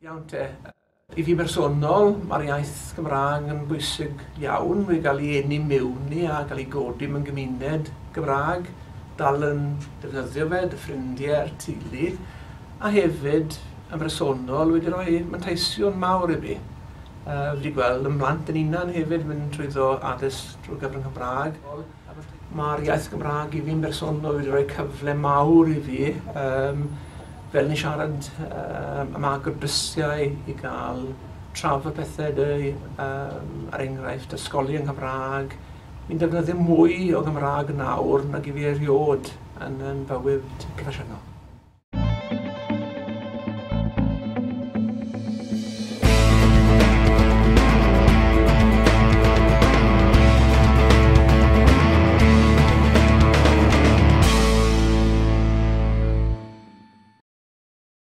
Iawn te. I fi bersonol, mae'r iaith Gymraeg yn bwysig iawn. Wedi gael ei eni mewn i a gael ei godi mewn gymuned Gymraeg, dal yn defnyddio fe, dy ffrindiau a'r teulu, a hefyd yn bersonol wedi rhoi manteision mawr i fi. Wedi gweld y mhlant yn hunan hefyd mynd trwyddo addysg drwy gyfrwng Cymraeg. Mae'r iaith Gymraeg i fi'n bersonol wedi rhoi cyfle mawr i fi, fel ni'n siarad am agor drysiau i gael trafod pethau dy, er enghraifft, ysgolion Cymraeg. Fi'n defnyddio mwy o Gymraeg nawr nag i fi erioed yn fywyd proffesiynol.